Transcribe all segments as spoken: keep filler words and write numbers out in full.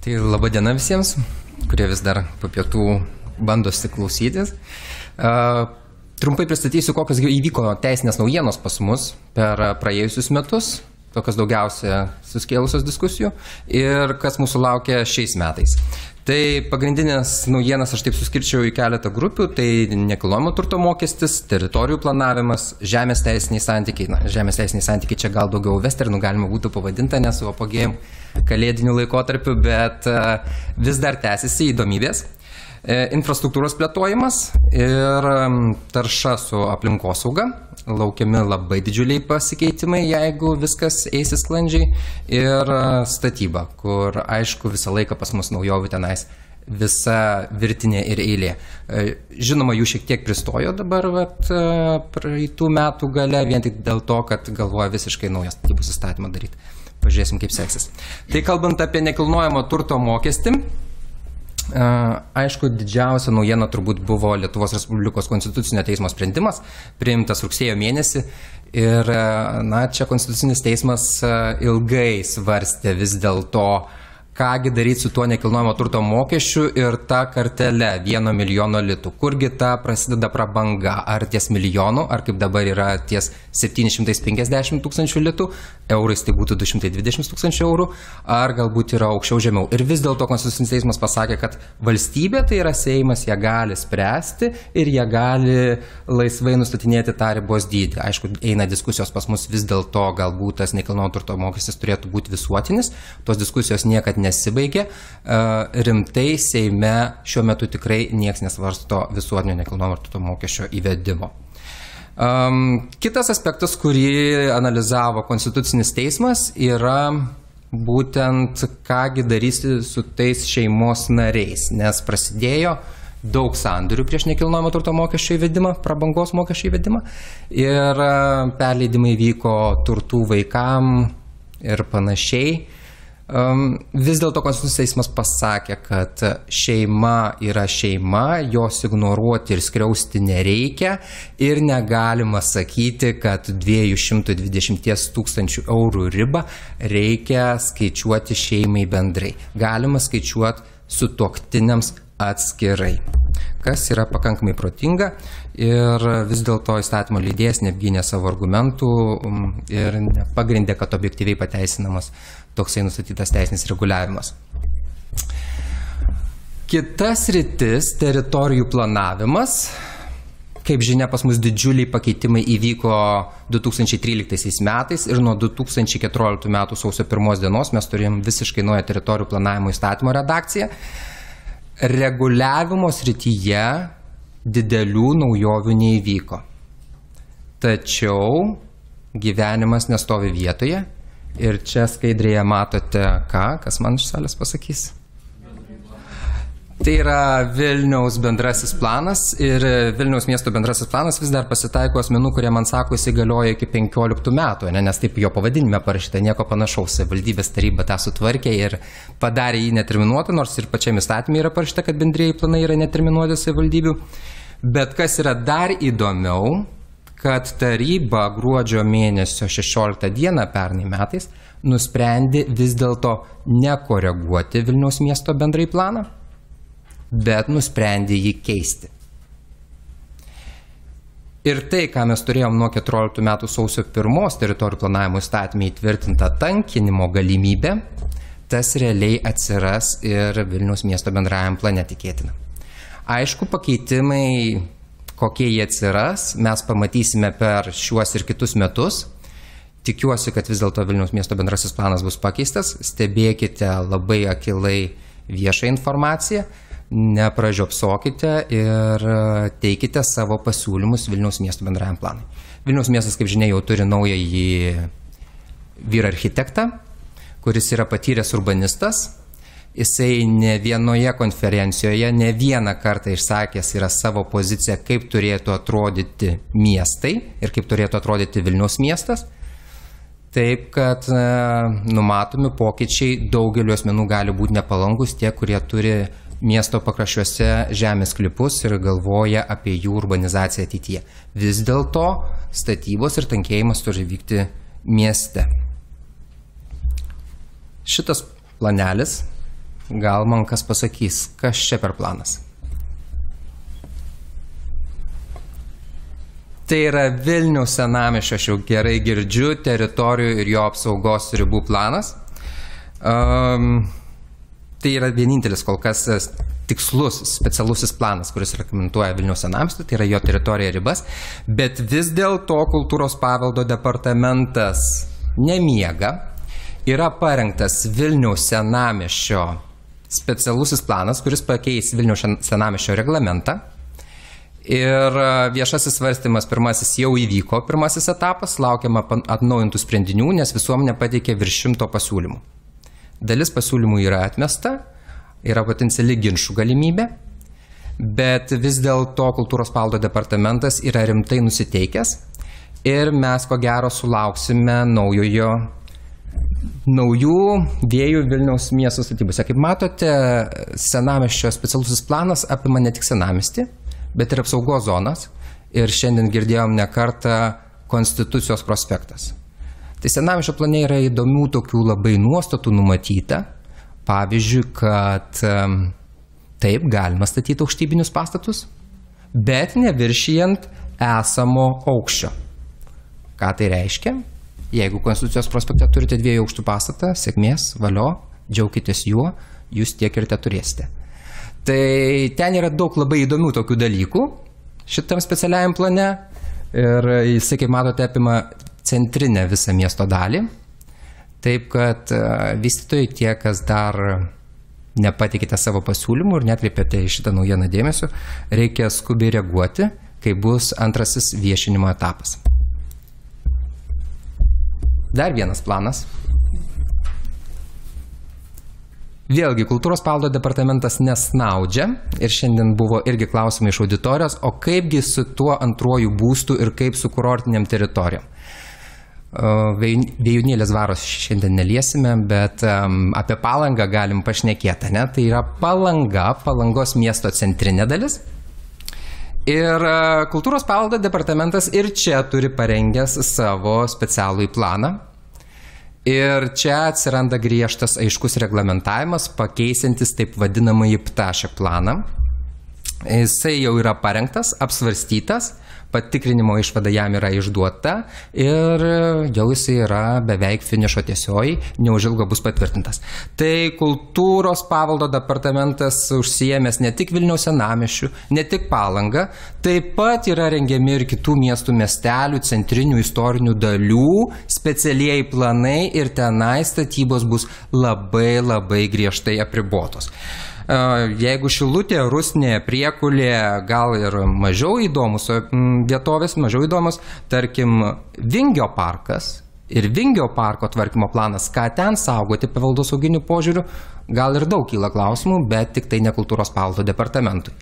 Tai laba diena visiems, kurie vis dar po pietų bandosi klausytis. Uh, trumpai pristatysiu, kokios įvyko teisinės naujienos pas mus per praėjusius metus, tokios daugiausia suskėlusios diskusijų ir kas mūsų laukia šiais metais. Tai pagrindinės naujienas aš taip suskirčiau į keletą grupių, tai nekilnojamo turto mokestis, teritorijų planavimas, žemės teisiniai santykiai. Na, žemės teisiniai santykiai čia gal daugiau westernų galima būtų pavadinta, nes su apogėjim kalėdiniu laikotarpiu, bet vis dar tęsiasi įdomybės. Infrastruktūros plėtojimas ir tarša su aplinkosauga. Laukiami labai didžiuliai pasikeitimai, jeigu viskas eisis sklandžiai. Ir statyba, kur aišku visą laiką pas mus naujovių tenais visa virtinė ir eilė. Žinoma, jų šiek tiek pristojo dabar vat, praeitų metų gale, vien tik dėl to, kad galvoja visiškai naują statybos įstatymą daryti. Pažiūrėsim, kaip seksis. Tai kalbant apie nekilnojamo turto mokestį, aišku, didžiausia naujiena turbūt buvo Lietuvos Respublikos konstitucinio teismo sprendimas, priimtas rugsėjo mėnesį. Ir na, čia konstitucinis teismas ilgai svarstė vis dėlto, kągi daryti su tuo nekilnojamo turto mokesčiu ir ta kartelė vieno milijono litų. Kurgi ta prasideda prabanga? Ar ties milijonų, ar kaip dabar yra ties septyni šimtai penkiasdešimt tūkstančių litų, eurais tai būtų du šimtai dvidešimt tūkstančių eurų, ar galbūt yra aukščiau žemiau. Ir vis dėlto konstitucinis teismas pasakė, kad valstybė, tai yra Seimas, jie gali spręsti ir jie gali laisvai nustatinėti tą ribos dydį. Aišku, eina diskusijos pas mus vis dėlto, galbūt tas nekilnojamo turto mokestis turėtų būti visuotinis. Tos diskusijos niekad nesibaigė. Rimtai Seime šiuo metu tikrai nieks nesvarsto visuotinio nekilnojamo turto mokesčio įvedimo. Um, kitas aspektas, kurį analizavo konstitucinis teismas, yra būtent kągi darysi su tais šeimos nariais, nes prasidėjo daug sandorių prieš nekilnojamo turto mokesčio įvedimą, prabangos mokesčio įvedimą ir perleidimai vyko turtų vaikam ir panašiai. Um, vis dėlto konstitucinis teismas pasakė, kad šeima yra šeima, jos ignoruoti ir skriausti nereikia ir negalima sakyti, kad dviejų šimtų dvidešimt tūkstančių eurų ribą reikia skaičiuoti šeimai bendrai. Galima skaičiuoti sutuoktiniams atskirai, kas yra pakankamai protinga ir vis dėlto įstatymo leidėjas neapgynė savo argumentų ir pagrindė, kad objektyviai pateisinamas toksai nustatytas teisinis reguliavimas. Kitas sritis - teritorijų planavimas. Kaip žinia, pas mus didžiuliai pakeitimai įvyko du tūkstančiai tryliktaisiais metais ir nuo du tūkstančiai keturioliktų metų sausio pirmos dienos mes turėjom visiškai naują teritorijų planavimo įstatymo redakciją. Reguliavimo srityje didelių naujovių neįvyko. Tačiau gyvenimas nestovi vietoje. Ir čia skaidrėje matote ką, kas man iš salės pasakys. Tai yra Vilniaus bendrasis planas ir Vilniaus miesto bendrasis planas vis dar pasitaiko asmenų, kurie man sako, jis įgalioja iki penkioliktų metų, ne, nes taip jo pavadinime parašyta, nieko panašaus. Valdybės taryba tą sutvarkė ir padarė jį neterminuotą, nors ir pačiame įstatyme yra parašyta, kad bendrieji planai yra neterminuoti savivaldybių. Bet kas yra dar įdomiau, kad taryba gruodžio mėnesio šešioliktą dieną pernai metais nusprendė vis dėlto nekoreguoti Vilniaus miesto bendrai planą, bet nusprendė jį keisti. Ir tai, ką mes turėjom nuo keturioliktų metų sausio pirmos teritorijų planavimo įstatyme įtvirtinta tankinimo galimybė, tas realiai atsiras ir Vilniaus miesto bendrajam plane tikėtina. Aišku, pakeitimai, kokie jie atsiras, mes pamatysime per šiuos ir kitus metus. Tikiuosi, kad vis dėlto Vilniaus miesto bendrasis planas bus pakeistas. Stebėkite labai akilai viešą informaciją, nepražiopsokite ir teikite savo pasiūlymus Vilniaus miesto bendrajam planui. Vilniaus miestas, kaip žinia, jau turi naująjį vyrą architektą, kuris yra patyręs urbanistas. Jisai ne vienoje konferencijoje, ne vieną kartą išsakęs yra savo poziciją, kaip turėtų atrodyti miestai ir kaip turėtų atrodyti Vilniaus miestas. Taip, kad e, numatomi pokyčiai daugeliu asmenų gali būti nepalankus, tie, kurie turi miesto pakraščiuose žemės sklypus ir galvoja apie jų urbanizaciją ateityje. Vis dėlto statybos ir tankėjimas turi vykti mieste. Šitas planelis gal man kas pasakys, kas čia per planas. Tai yra Vilniaus senamiesčio, aš jau gerai girdžiu, teritorijų ir jo apsaugos ribų planas. Um, tai yra vienintelis kol kas tikslus, specialusis planas, kuris rekomenduoja Vilniaus senamiestį, tai yra jo teritorija ribas, bet vis dėlto kultūros paveldo departamentas nemiega, yra parengtas Vilniaus senamiesčio specialusis planas, kuris pakeis Vilniaus senamiesčio reglamentą. Ir viešasis svarstymas pirmasis jau įvyko, pirmasis etapas, laukiama atnaujintų sprendinių, nes visuomenė pateikė virš šimto pasiūlymų. Dalis pasiūlymų yra atmesta, yra potenciali ginčų galimybė, bet vis dėlto kultūros paveldo departamentas yra rimtai nusiteikęs ir mes ko gero sulauksime naujojo, naujų vėjų Vilniaus miesto statybose. Kaip matote, senamiesčio specialusis planas apima ne tik senamiestį, bet ir apsaugos zonas, ir šiandien girdėjom ne kartą Konstitucijos prospektas. Tai senamiesčio plane yra įdomių tokių labai nuostatų numatyta, pavyzdžiui, kad taip galima statyti aukštybinius pastatus, bet neviršijant esamo aukščio. Ką tai reiškia? Jeigu Konstitucijos prospekte turite dviejų aukštų pastatą, sėkmės, valio, džiaukitės juo, jūs tiek ir te turėsite. Tai ten yra daug labai įdomių tokių dalykų šitam specialiajam plane ir jisai, kaip matote, apima centrinę visą miesto dalį. Taip, kad vystytojai tie, kas dar nepatikite savo pasiūlymų ir netkreipėte į šitą naujieną dėmesio, reikia skubiai reaguoti, kai bus antrasis viešinimo etapas. Dar vienas planas. Vėlgi, kultūros paveldo departamentas nesnaudžia ir šiandien buvo irgi klausimai iš auditorijos, o kaipgi su tuo antruoju būstu ir kaip su kurortiniam teritorijom. Vėjūnėlės dvaros šiandien neliesime, bet um, apie Palangą galim pašnekėti, ne? Tai yra Palanga, Palangos miesto centrinė dalis. Ir uh, kultūros paveldo departamentas ir čia turi parengęs savo specialųjį planą. Ir čia atsiranda griežtas aiškus reglamentavimas, pakeisintis taip vadinamąjį ptašek planą. Jisai jau yra parengtas, apsvarstytas, patikrinimo išvada jam yra išduota ir jau jisai yra beveik finišo tiesioji, neužilgo bus patvirtintas. Tai kultūros paveldo departamentas užsiėmęs ne tik Vilniaus senamiesčių, ne tik Palangą, taip pat yra rengiami ir kitų miestų miestelių, centrinių istorinių dalių, specialieji planai ir tenai statybos bus labai labai griežtai apribotos. Jeigu Šilutė, Rusnė, Priekulė, gal ir mažiau įdomus vietovės, mažiau įdomus, tarkim, Vingio parkas ir Vingio parko tvarkymo planas, ką ten saugoti paveldosauginiu požiūriu, gal ir daug kyla klausimų, bet tik tai ne kultūros paveldo departamentui.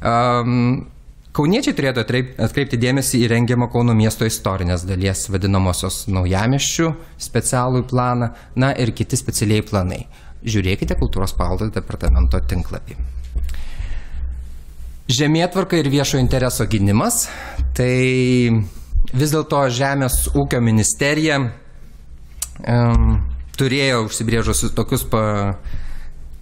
Um, Kauniečiai turėtų atkreipti dėmesį į rengiamą Kauno miesto istorinės dalies vadinamosios naujamiesčių specialų planą, na ir kiti specialiai planai. Žiūrėkite kultūros paveldo departamento tinklapį. Žemėtvarka ir viešo intereso gynimas. Tai vis dėlto Žemės ūkio ministerija um, turėjo užsibrėžusi tokius pa,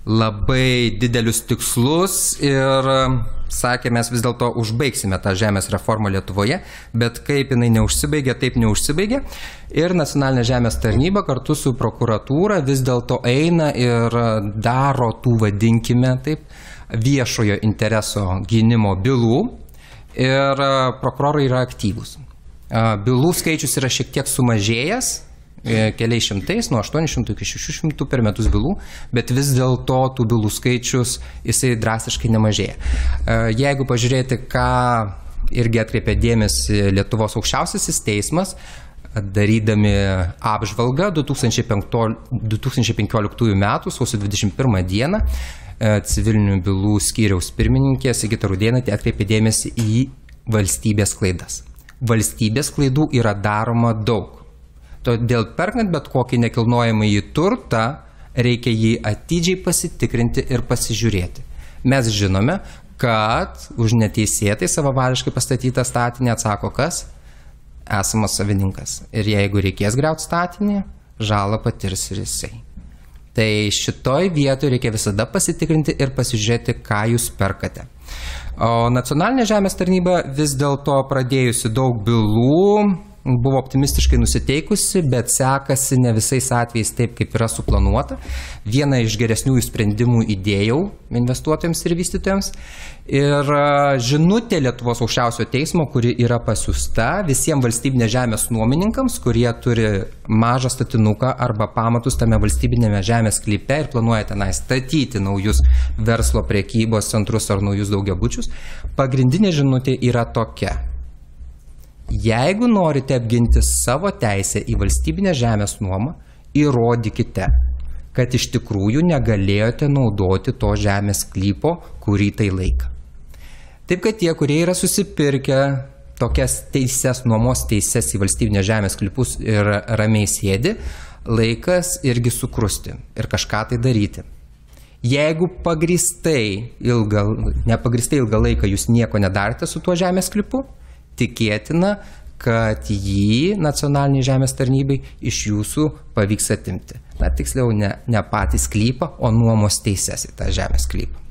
labai didelius tikslus ir um, sakė, mes vis dėlto užbaigsime tą žemės reformą Lietuvoje, bet kaip jinai neužsibaigė, taip neužsibaigė. Ir nacionalinė žemės tarnyba kartu su prokuratūra vis dėlto eina ir daro tų, vadinkime taip, viešojo intereso gynimo bylų ir prokurorai yra aktyvūs. Bylų skaičius yra šiek tiek sumažėjęs, keliais šimtais, nuo aštuonių šimtų iki šešių šimtų per metus bylų, bet vis dėlto tų bylų skaičius jisai drastiškai nemažėja. Jeigu pažiūrėti, ką irgi atkreipė dėmesį Lietuvos aukščiausiasis teismas, darydami apžvalgą du tūkstančiai penkioliktųjų metų sausio dvidešimt pirmą dieną, civilinių bylų skyriaus pirmininkė Sigita Rudėnaitė atkreipė dėmesį į valstybės klaidas. Valstybės klaidų yra daroma daug. Todėl perkant bet kokį nekilnojamąjį turtą, reikia jį atidžiai pasitikrinti ir pasižiūrėti. Mes žinome, kad už neteisėtai savavališkai pastatytą statinį atsako kas? Esamas savininkas. Ir jeigu reikės griauti statinį, žalą patirs ir jisai. Tai šitoj vietoje reikia visada pasitikrinti ir pasižiūrėti, ką jūs perkate. O nacionalinė žemės tarnyba vis dėlto pradėjusi daug bylų, buvo optimistiškai nusiteikusi, bet sekasi ne visais atvejais taip, kaip yra suplanuota. Vieną iš geresniųjų sprendimų įdėjau investuotojams ir vystytojams. Ir žinutė Lietuvos aukščiausiojo teismo, kuri yra pasiųsta visiems valstybinės žemės nuomininkams, kurie turi mažą statinuką arba pamatus tame valstybinėme žemės sklype ir planuoja tenai statyti naujus verslo prekybos centrus ar naujus daugiabučius. Pagrindinė žinutė yra tokia. Jeigu norite apginti savo teisę į valstybinę žemės nuomą, įrodykite, kad iš tikrųjų negalėjote naudoti to žemės sklypo kurį tai laiką. Taip, kad tie, kurie yra susipirkę tokias teises, nuomos teises į valstybinę žemės sklypus ir ramiai sėdi, laikas irgi sukrusti ir kažką tai daryti. Jeigu pagrįstai ilgą, nepagrįstai ilgą laiką jūs nieko nedarėte su tuo žemės sklypu, tikėtina, kad jį nacionaliniai žemės tarnybai iš jūsų pavyks atimti. Na, tiksliau, ne, ne patį sklypą, o nuomos teises į tą žemės sklypą.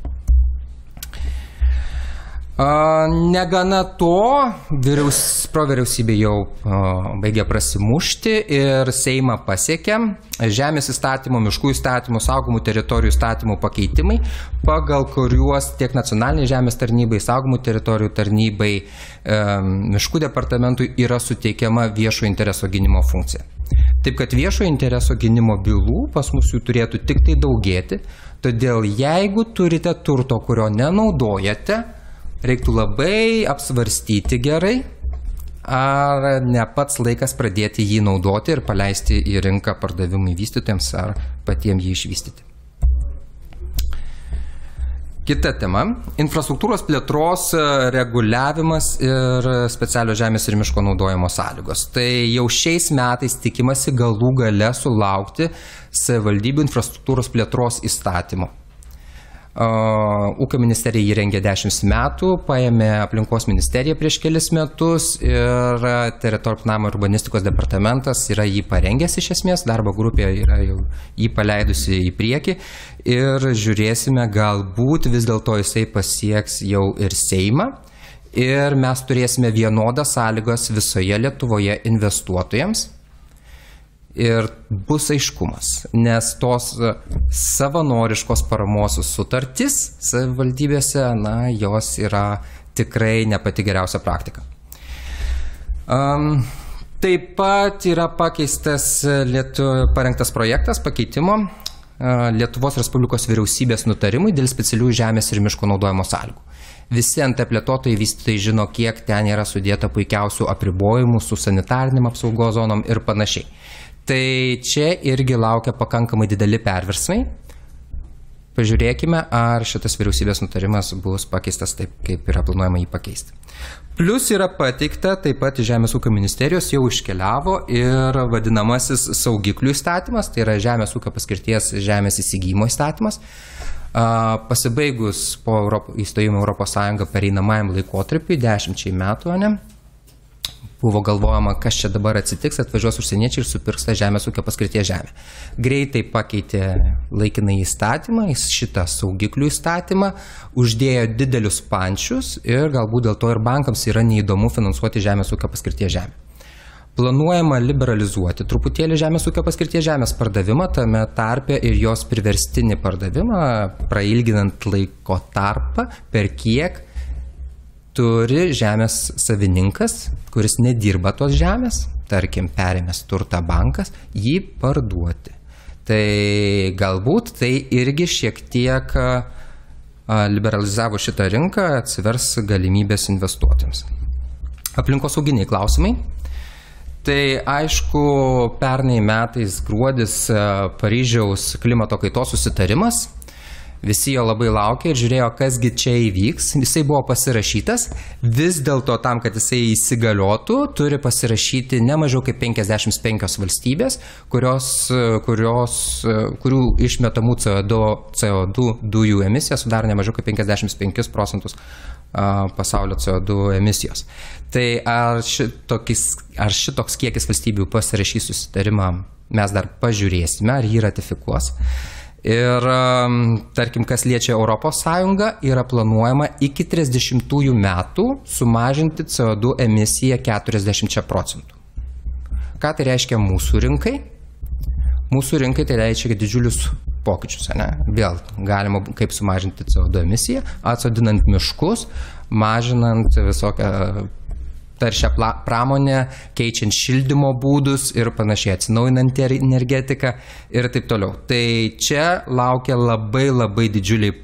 Negana to, vyriaus, provyriausybė jau a, baigė prasimušti ir Seimą pasiekė žemės įstatymo, miškų įstatymo, saugomų teritorijų įstatymų pakeitimai, pagal kuriuos tiek nacionaliniai žemės tarnybai, saugomų teritorijų tarnybai, e, miškų departamentui yra suteikiama viešo intereso gynimo funkcija. Taip, kad viešo intereso gynimo bylų pas mus jų turėtų tik tai daugėti, todėl jeigu turite turto, kurio nenaudojate, reiktų labai apsvarstyti gerai, ar ne pats laikas pradėti jį naudoti ir paleisti į rinką pardavimui vystytojams ar patiems jį išvystyti. Kita tema – infrastruktūros plėtros reguliavimas ir specialios žemės ir miško naudojimo sąlygos. Tai jau šiais metais tikimasi galų gale sulaukti savivaldybių infrastruktūros plėtros įstatymo. Ūkio ministerija jį rengė dešimt metų, paėmė aplinkos ministeriją prieš kelis metus ir teritorijų planavimo ir urbanistikos departamentas yra jį parengęs iš esmės, darbo grupė yra jau jį paleidusi į priekį ir žiūrėsime, galbūt vis dėlto jisai pasieks jau ir Seimą ir mes turėsime vienodas sąlygas visoje Lietuvoje investuotojams. Ir bus aiškumas, nes tos savanoriškos paramos sutartys savivaldybėse, na, jos yra tikrai ne pati geriausia praktika. Um, taip pat yra pakeistas Lietu, parengtas projektas pakeitimo uh, Lietuvos Respublikos vyriausybės nutarimui dėl specialių žemės ir miško naudojimo sąlygų. Visi ant plėtotojai vystytojai žino, kiek ten yra sudėta puikiausių apribojimų su sanitarinėm apsaugos zonom ir panašiai. Tai čia irgi laukia pakankamai dideli perversmai. Pažiūrėkime, ar šitas vyriausybės nutarimas bus pakeistas taip, kaip yra planuojama jį pakeisti. Plus yra pateikta, taip pat Žemės ūkio ministerijos jau iškeliavo ir vadinamasis saugiklių įstatymas, tai yra Žemės ūkio paskirties žemės įsigymo įstatymas. Pasibaigus po Europo, įstojimo Europos Sąjungą pereinamajam laikotarpiui, dešimčiai metų, ne? Buvo galvojama, kas čia dabar atsitiks, atvažiuos užsieniečiai ir supirks tą žemės ūkio paskirties žemę. Greitai pakeitė laikinai įstatymą, šitą saugiklių įstatymą, uždėjo didelius pančius ir galbūt dėl to ir bankams yra neįdomu finansuoti žemės ūkio paskirties žemę. Planuojama liberalizuoti truputėlį žemės ūkio paskirties žemės pardavimą, tame tarpe ir jos priverstinį pardavimą, prailginant laiko tarpą, per kiek turi žemės savininkas, kuris nedirba tos žemės, tarkim, perėmęs turtą bankas, jį parduoti. Tai galbūt tai irgi šiek tiek liberalizavo šitą rinką, atsivers galimybės investuotėms. Aplinkosauginiai klausimai. Tai aišku, pernai metais gruodis Paryžiaus klimato kaitos susitarimas. Visi jo labai laukia ir žiūrėjo, kasgi čia įvyks. Jisai buvo pasirašytas, vis dėlto tam, kad jisai įsigaliotų, turi pasirašyti ne mažiau kaip penkiasdešimt penkios valstybės, kurios, kurios, kurių išmetamų C O du dujų emisija sudaro ne mažiau kaip penkiasdešimt penkis procentus pasaulio C O du emisijos. Tai ar šitokis, ar šitoks kiekis valstybių pasirašys susitarimą mes dar pažiūrėsime, ar jį ratifikuos. Ir tarkim, kas liečia Europos Sąjungą, yra planuojama iki trisdešimtųjų metų sumažinti C O du emisiją keturiasdešimčia procentų. Ką tai reiškia mūsų rinkai? Mūsų rinkai tai reiškia didžiulius pokyčius. Ne? Vėl galima kaip sumažinti C O du emisiją, atsodinant miškus, mažinant visokią taršią pramonę, keičiant šildymo būdus ir panašiai, atsinaujinant energetiką ir taip toliau. Tai čia laukia labai labai didžiuliai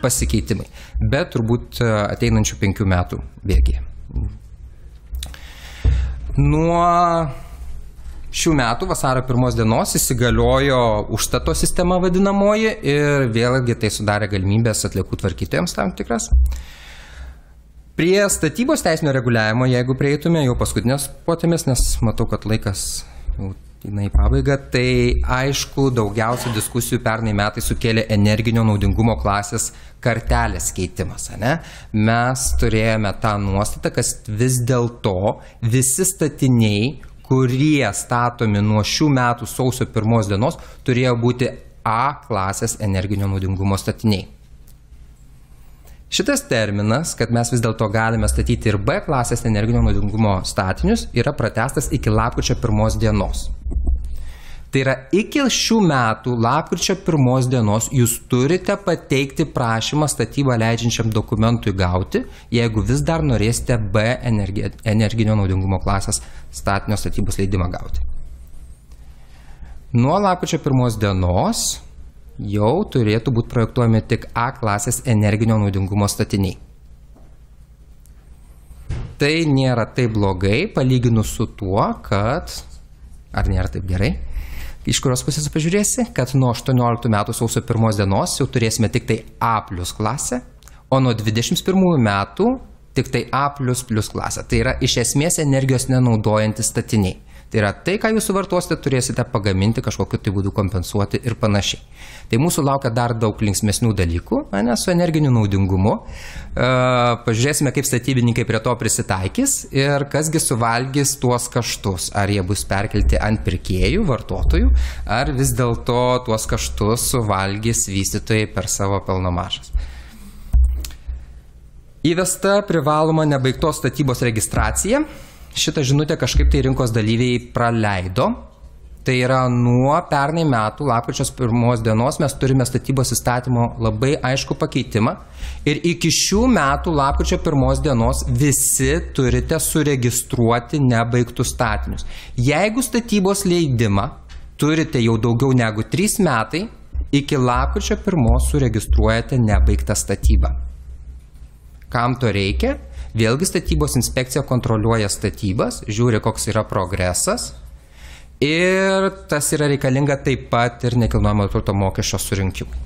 pasikeitimai, bet turbūt ateinančių penkių metų bėgyje. Nuo šių metų vasario pirmos dienos įsigaliojo užstato sistema vadinamoji ir vėlgi tai sudarė galimybės atliekų tvarkytojams tam tikras. Prie statybos teisinio reguliavimo, jeigu prieitume jau paskutinės potėmis, nes matau, kad laikas jau eina į pabaigą, tai aišku, daugiausia diskusijų pernai metai sukėlė energinio naudingumo klasės kartelės keitimas. Ne? Mes turėjome tą nuostatą, kad vis dėlto visi statiniai, kurie statomi nuo šių metų sausio pirmos dienos, turėjo būti A klasės energinio naudingumo statiniai. Šitas terminas, kad mes vis dėlto galime statyti ir B klasės energinio naudingumo statinius, yra pratęstas iki lapkričio pirmos dienos. Tai yra iki šių metų lapkričio pirmos dienos jūs turite pateikti prašymą statybą leidžiančiam dokumentui gauti, jeigu vis dar norėsite B energinio naudingumo klasės statinio statybos leidimą gauti. Nuo lapkričio pirmos dienos jau turėtų būti projektuojami tik A klasės energinio naudingumo statiniai. Tai nėra taip blogai, palyginus su tuo, kad, ar nėra taip gerai, iš kurios pusės pažiūrėsi, kad nuo aštuonioliktų metų sausio pirmos dienos jau turėsime tik tai A plus klasę, o nuo dvidešimt pirmųjų metų tik tai A plus plus klasę. Tai yra iš esmės energijos nenaudojantis statiniai. Tai yra tai, ką jūs suvartosite, turėsite pagaminti, kažkokiu tai būdu kompensuoti ir panašiai. Tai mūsų laukia dar daug linksmesnių dalykų, ne, su energiniu naudingumu. E, pažiūrėsime, kaip statybininkai prie to prisitaikys ir kasgi suvalgys tuos kaštus. Ar jie bus perkelti ant pirkėjų, vartotojų, ar vis dėlto tuos kaštus suvalgys vystytojai per savo pelno maržas. Įvesta privaloma nebaigtos statybos registracija. Šitą žinutę kažkaip tai rinkos dalyviai praleido. Tai yra nuo pernai metų lapkričio pirmos dienos mes turime statybos įstatymo labai aišku pakeitimą ir iki šių metų lapkričio pirmos dienos visi turite suregistruoti nebaigtus statinius. Jeigu statybos leidimą turite jau daugiau negu trys metai, iki lapkričio pirmos suregistruojate nebaigtą statybą. Kam to reikia? Vėlgi statybos inspekcija kontroliuoja statybas, žiūri, koks yra progresas ir tas yra reikalinga taip pat ir nekilnojamo turto mokesčio surinkimui.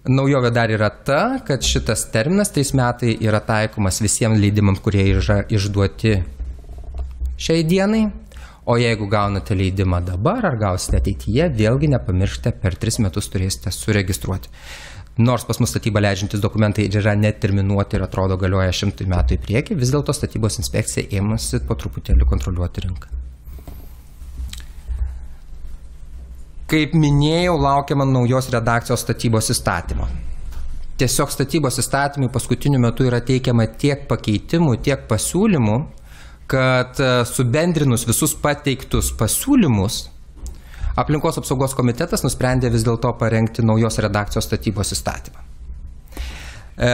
Naujovė dar yra ta, kad šitas terminas tais metai yra taikomas visiems leidimams, kurie yra išduoti šiai dienai, o jeigu gaunate leidimą dabar ar gausite ateityje, vėlgi nepamirškite, per tris metus turėsite suregistruoti. Nors pas mus statybą leidžiantis dokumentai yra neterminuoti ir atrodo galioja šimtui metų į priekį, vis dėlto statybos inspekcija ėmasi po truputėlį kontroliuoti rinką. Kaip minėjau, laukiama naujos redakcijos statybos įstatymo. Tiesiog statybos įstatymui paskutiniu metu yra teikiama tiek pakeitimų, tiek pasiūlymų, kad subendrinus visus pateiktus pasiūlymus, Aplinkos apsaugos komitetas nusprendė vis dėlto parengti naujos redakcijos statybos įstatymą. E,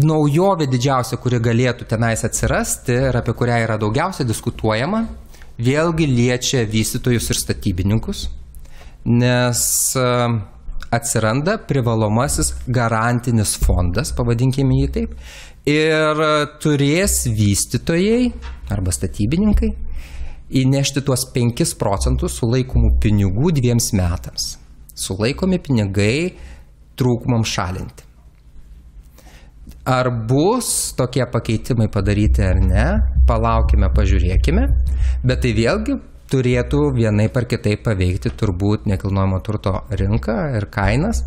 naujovė didžiausia, kuri galėtų tenais atsirasti ir apie kurią yra daugiausia diskutuojama, vėlgi liečia vystytojus ir statybininkus, nes atsiranda privalomasis garantinis fondas, pavadinkime jį taip, ir turės vystytojai arba statybininkai įnešti tuos penkis procentus sulaikomų pinigų dviems metams. Sulaikomi pinigai trūkumams šalinti. Ar bus tokie pakeitimai padaryti ar ne, palaukime, pažiūrėkime, bet tai vėlgi turėtų vienaip ar kitaip paveikti turbūt nekilnojamo turto rinką ir kainas,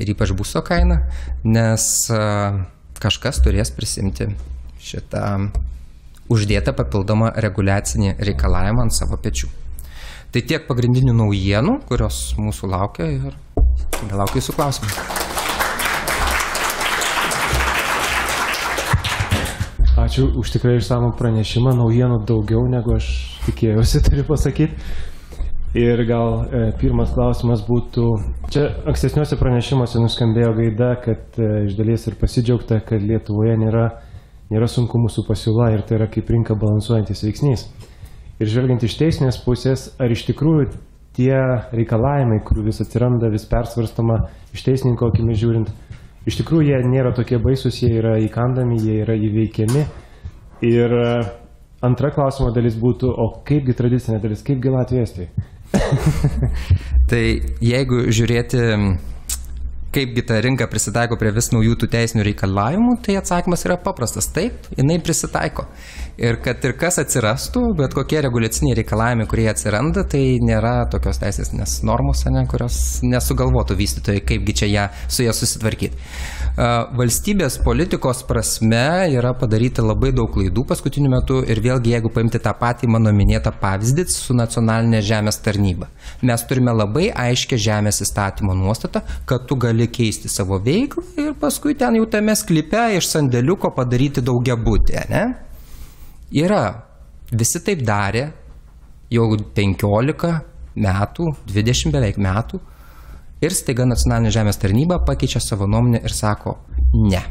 ir ypač būsto kainą, nes kažkas turės prisimti šitą uždėtą papildomą reguliacinį reikalavimą ant savo pečių. Tai tiek pagrindinių naujienų, kurios mūsų laukia ir belaukiu jūsų klausimų. Ačiū už tikrai išsamų pranešimą, naujienų daugiau negu aš tikėjausi, turiu pasakyti. Ir gal e, pirmas klausimas būtų, čia ankstesniuose pranešimuose nuskambėjo gaida, kad e, iš dalies ir pasidžiaugta, kad Lietuvoje nėra, nėra sunkumų su pasiūla ir tai yra kaip rinka balansuojantis veiksnys. Ir žvelgiant iš teisinės pusės, ar iš tikrųjų tie reikalavimai, kurių vis atsiranda, vis persvarstama iš teisininko akimis žiūrint, iš tikrųjų jie nėra tokie baisus, jie yra įkandami, jie yra įveikiami. Ir antra klausimo dalis būtų, o kaipgi tradicinė dalis, kaipgi Latvija Estija? Tai jeigu žiūrėti, kaipgi ta rinka prisitaiko prie vis naujų tų teisinių reikalavimų, tai atsakymas yra paprastas. Taip, jinai prisitaiko. Ir kad ir kas atsirastų, bet kokie reguliaciniai reikalavimai, kurie atsiranda, tai nėra tokios teisinės normos, ne, kurios nesugalvotų vystytojai, kaipgi čia ją, su ją susitvarkyti. Valstybės politikos prasme yra padaryta labai daug klaidų paskutiniu metu ir vėlgi, jeigu paimti tą patį mano minėtą pavyzdį su nacionalinė žemės tarnyba. Mes turime labai aiškę žemės įstatymo nuostatą, kad tu gali keisti savo veiklą ir paskui ten jau tame sklype iš sandėliuko padaryti daugiabutį, ne? Yra. Visi taip darė jau penkiolika metų, dvidešimt beveik metų. Ir staiga nacionalinė žemės tarnyba pakeičia savo nuomonę ir sako, ne.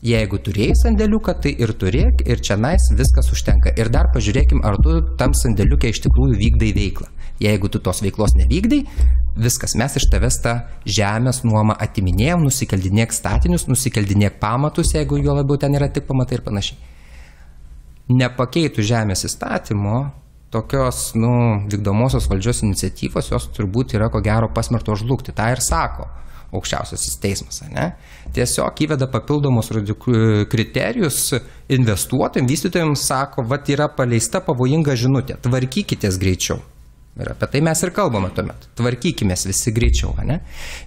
Jeigu turėjai sandėliuką, tai ir turėk, ir čia nais viskas užtenka. Ir dar pažiūrėkim, ar tu tam sandėliuke iš tikrųjų vykdai veiklą. Jeigu tu tos veiklos nevykdai, viskas, mes iš tavęs tą žemės nuomą atiminėjom, nusikeldinėk statinius, nusikeldinėk pamatus, jeigu jo labiau ten yra tik pamatai ir panašiai. Nepakeitų žemės įstatymo, tokios, nu, vykdomosios valdžios iniciatyvos, jos turbūt yra ko gero pasmerktos žlugti. Ta ir sako aukščiausiasis teismas, ne? Tiesiog įveda papildomus kriterijus investuotojams, vystytojams, sako, vat yra paleista pavojinga žinutė, tvarkykitės greičiau. Ir apie tai mes ir kalbame tuomet. Tvarkykimės visi greičiau, ne?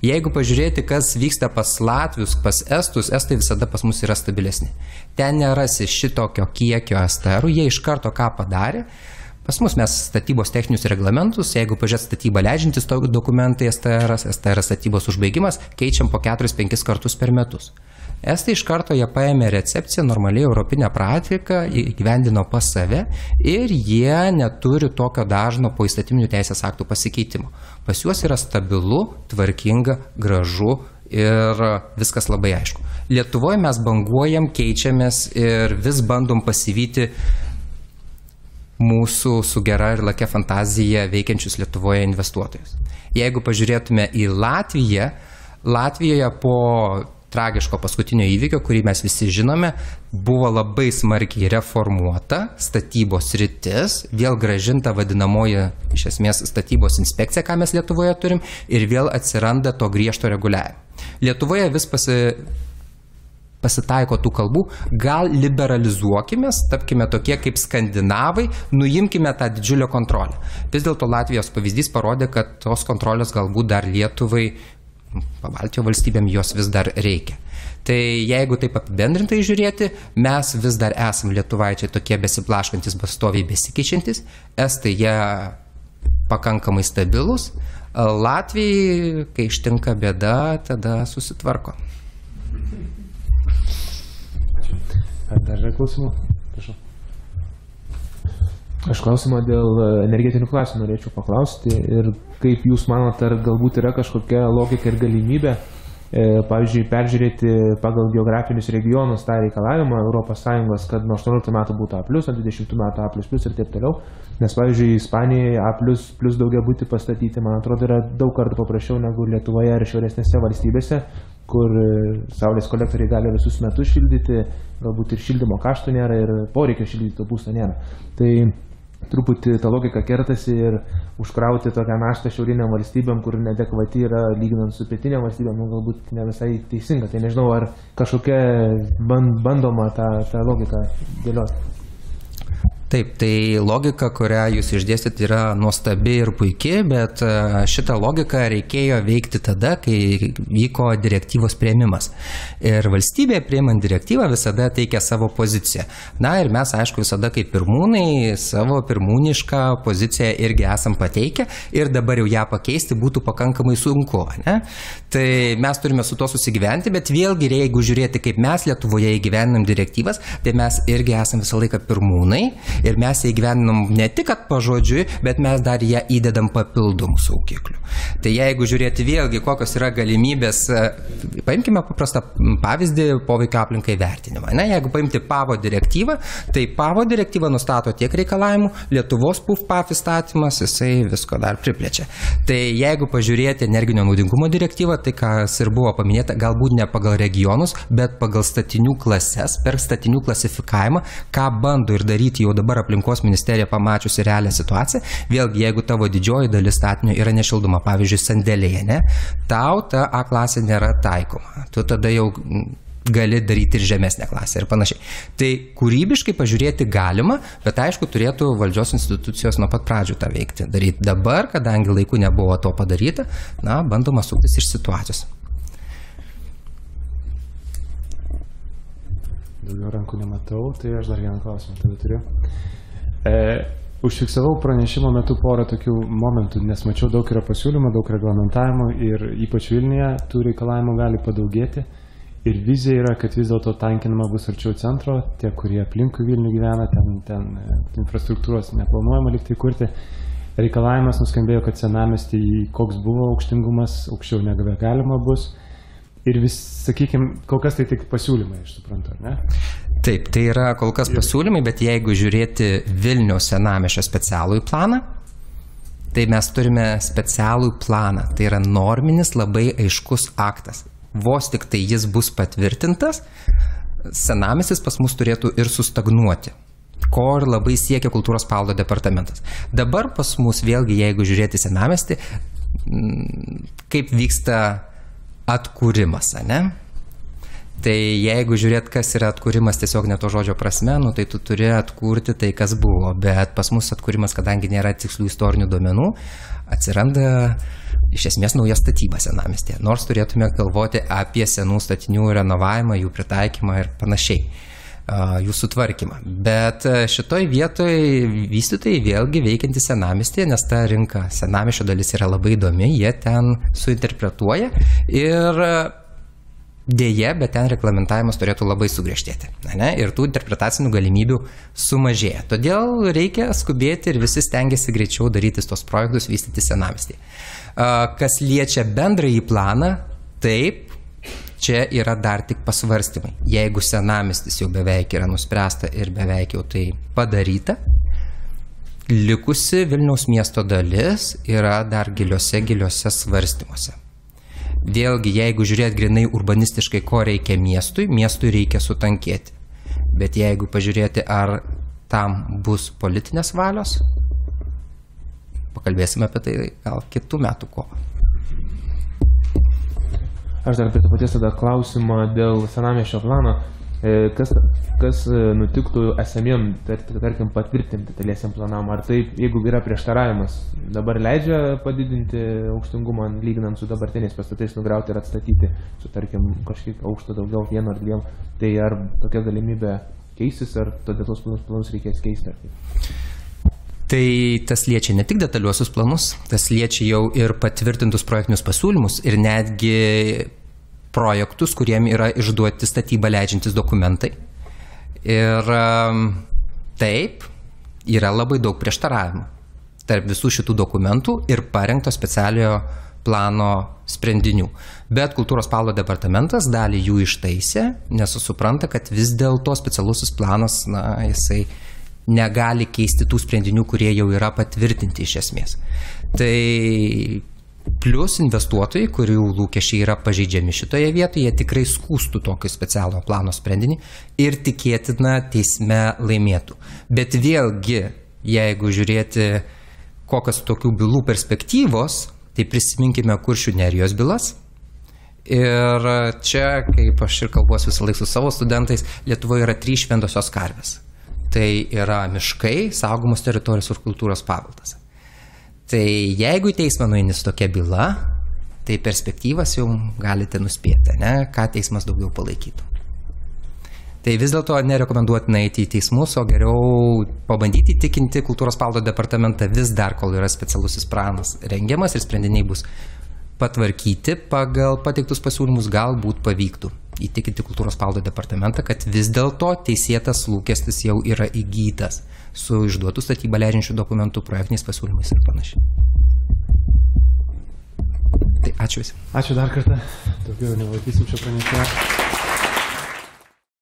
Jeigu pažiūrėti, kas vyksta pas latvius, pas estus, estai visada pas mus yra stabilesni. Ten nerasi šitokio kiekio es te erų, jie iš karto ką padarė. Pas mus mes statybos techninius reglamentus, jeigu pažiūrėt statybą leidžiantis dokumentai es te eras, es te eras statybos užbaigimas, keičiam po keturis penkis kartus per metus. Estai iš karto jie paėmė recepciją, normaliai europinę praktiką, įgyvendino pas save ir jie neturi tokio dažno po įstatyminių teisės aktų pasikeitimo. Pas juos yra stabilu, tvarkinga, gražu ir viskas labai aišku. Lietuvoje mes banguojam, keičiamės ir vis bandom pasivyti mūsų su gera ir lakia fantazija veikiančius Lietuvoje investuotojus. Jeigu pažiūrėtume į Latviją, Latvijoje po tragiško paskutinio įvykio, kurį mes visi žinome, buvo labai smarkiai reformuota statybos sritis, vėl grąžinta vadinamoji iš esmės statybos inspekcija, ką mes Lietuvoje turim, ir vėl atsiranda to griežto reguliavimo. Lietuvoje vis pasi... pasitaiko tų kalbų, gal liberalizuokimės, tapkime tokie kaip skandinavai, nuimkime tą didžiulę kontrolę. Vis dėlto Latvijos pavyzdys parodė, kad tos kontrolės galbūt dar Lietuvai, Pabaltijo valstybėm jos vis dar reikia. Tai jeigu taip apibendrintai žiūrėti, mes vis dar esam lietuvaičiai tokie besiblaškantis, pastoviai besikeičiantis, estai jie pakankamai stabilus, Latvijai, kai ištinka bėda, tada susitvarko. Ar dar yra klausimų? Prašau. Aš klausimą dėl energetinių klasių norėčiau paklausti ir kaip jūs manote, ar galbūt yra kažkokia logika ir galimybė, e, pavyzdžiui, peržiūrėti pagal geografinius regionus tą reikalavimą Europos Sąjungos, kad nuo aštuonioliktų metų būtų A plus, nuo dvidešimtų metų A plus plus ir taip toliau. Nes, pavyzdžiui, Ispanijoje A plus plus daugiabutį pastatyti, man atrodo, yra daug kartų paprasčiau negu Lietuvoje ar šiauresnėse valstybėse, kur saulės kolektoriai gali visus metus šildyti, galbūt ir šildymo kaštų nėra ir poreikio šildyti to būsto nėra. Tai truputį ta logika kertasi ir užkrauti tokią naštą šiauriniam valstybėm, kur neadekvati yra lyginant su pietiniam valstybėm, nu, galbūt ne visai teisinga. Tai nežinau, ar kažkokia bandoma tą, tą logiką dėlioti. Taip, tai logika, kurią jūs išdėstėte, yra nuostabi ir puikiai, bet šitą logiką reikėjo veikti tada, kai vyko direktyvos priėmimas. Ir valstybė priėmant direktyvą visada teikia savo poziciją. Na ir mes, aišku, visada kaip pirmūnai savo pirmūnišką poziciją irgi esam pateikę ir dabar jau ją pakeisti būtų pakankamai sunku. Ne? Tai mes turime su to susigyventi, bet vėlgi, jeigu žiūrėti, kaip mes Lietuvoje įgyvendinam direktyvas, tai mes irgi esam visą laiką pirmūnai. Ir mes ją įgyvendinam ne tik pažodžiui, bet mes dar ją įdedam papildomų saugiklių. Tai jeigu žiūrėti vėlgi, kokios yra galimybės, paimkime paprastą pavyzdį poveikio aplinkai vertinimą. Ne? Jeigu paimti PAVO direktyvą, tai PAVO direktyva nustato tiek reikalavimų, Lietuvos P U F P A F įstatymas, jisai visko dar priplečia. Tai jeigu pažiūrėti energinio naudingumo direktyvą, tai kas ir buvo paminėta, galbūt ne pagal regionus, bet pagal statinių klases, per statinių klasifikavimą, ką bando ir daryti jau dabar aplinkos ministerija pamačiusi realią situaciją. Vėlgi, jeigu tavo didžioji dalis statinio yra nešildoma, pavyzdžiui, sandėlyje, ne, tau ta A klasė nėra taikoma. Tu tada jau gali daryti ir žemesnę klasę ir panašiai. Tai kūrybiškai pažiūrėti galima, bet aišku, turėtų valdžios institucijos nuo pat pradžių tą veikti. Daryti dabar, kadangi laiku nebuvo to padaryta, na, bandoma suktis iš situacijos. Daugiau rankų nematau, tai aš dar vieną klausimą tada turiu. E, užfiksavau pranešimo metu porą tokių momentų, nes mačiau daug yra pasiūlymų, daug reglamentavimų ir ypač Vilniuje tų reikalavimų gali padaugėti. Ir vizija yra, kad vis dėlto tankinama bus arčiau centro, tie, kurie aplinkui Vilnių gyvena, ten, ten infrastruktūros neplanuojama liktai kurti. Reikalavimas nuskambėjo, kad senamiestį, koks buvo aukštingumas, aukščiau negu galima bus. Ir vis, sakykime, kol kas tai tik pasiūlymai, aš suprantu, ar ne? Taip, tai yra kol kas pasiūlymai, bet jeigu žiūrėti Vilniaus senamiesčio specialųjį planą, tai mes turime specialų planą. Tai yra norminis labai aiškus aktas. Vos tik tai jis bus patvirtintas, senamiestis pas mus turėtų ir sustagnuoti, ko ir labai siekia kultūros paveldo departamentas. Dabar pas mus vėlgi, jeigu žiūrėti senamiestį, kaip vyksta atkūrimas, ne? Tai jeigu žiūrėt, kas yra atkūrimas tiesiog ne to žodžio prasme, nu, tai tu turi atkurti tai, kas buvo. Bet pas mus atkūrimas, kadangi nėra tikslių istorinių duomenų, atsiranda iš esmės nauja statyba senamiestyje. Nors turėtume galvoti apie senų statinių renovavimą, jų pritaikymą ir panašiai, jų sutvarkymą. Bet šitoj vietoj vystytojai vėlgi veikianti senamiestyje, nes ta rinka senamiesčio dalis yra labai įdomi, jie ten suinterpretuoja ir dėje, bet ten reglamentavimas turėtų labai sugriežtėti. Ne? Ir tų interpretacinių galimybių sumažėja. Todėl reikia skubėti ir visi stengiasi greičiau darytis tos projektus, vystyti senamiestyje. Kas liečia bendrąjį planą, taip, čia yra dar tik pasvarstymai. Jeigu senamiestis jau beveik yra nuspręsta ir beveik jau tai padaryta, likusi Vilniaus miesto dalis yra dar giliuose, giliuose svarstymuose. Vėlgi, jeigu žiūrėt grinai urbanistiškai, ko reikia miestui, miestui reikia sutankėti. Bet jeigu pažiūrėti, ar tam bus politinės valios, pakalbėsime apie tai gal kitų metų kovą. Aš dar prie to paties tada klausimą dėl senamiesčio plano. Kas, kas nutiktų esamiem, tarkim, patvirtinti taliesiam planam? Ar taip, jeigu yra prieštaravimas, dabar leidžia padidinti aukštingumą, lyginant su dabartiniais pastatais, nugriauti ir atstatyti su, tarkim, kažkiek aukšto daugiau, vienu ar dviem, tai ar tokia galimybė keisis, ar detalius planus reikės keisti? Tai tas liečia ne tik detaliuosius planus, tas liečia jau ir patvirtintus projektinius pasiūlymus ir netgi projektus, kuriem yra išduoti statybą leidžiantis dokumentai. Ir taip, yra labai daug prieštaravimų tarp visų šitų dokumentų ir parengto specialiojo plano sprendinių. Bet kultūros paveldo departamentas dalį jų ištaisė, nes supranta, kad vis dėlto specialusis planas, na, jisai negali keisti tų sprendinių, kurie jau yra patvirtinti iš esmės. Tai plus investuotojai, kurių lūkesčiai yra pažeidžiami šitoje vietoje, jie tikrai skųstų tokį specialų plano sprendinį ir tikėtina teisme laimėtų. Bet vėlgi, jeigu žiūrėti kokios tokių bylų perspektyvos, tai prisiminkime Kuršių Nerijos bylas. Ir čia, kaip aš ir kalbuosi visą laiką su savo studentais, Lietuvoje yra trys šventosios karvės. tai yra miškai, saugomos teritorijos ir kultūros paveldas. Tai jeigu į teismą nueini su tokia byla, tai perspektyvas jau galite nuspėti, ne, ką teismas daugiau palaikytų. Tai vis dėlto nerekomenduotina eiti į teismus, o geriau pabandyti įtikinti kultūros paveldo departamentą vis dar, kol yra specialusis planas rengiamas ir sprendiniai bus patvarkyti pagal pateiktus pasiūlymus, galbūt pavyktų įtikinti kultūros paveldo departamentą, kad vis dėlto teisėtas lūkestis jau yra įgytas su išduotų statybą leidžiančių dokumentų, projektiniais pasiūlymais ir panašiai. Tai ačiū visi. Ačiū dar kartą. Daugiau nelaikysim šio pranešėjo.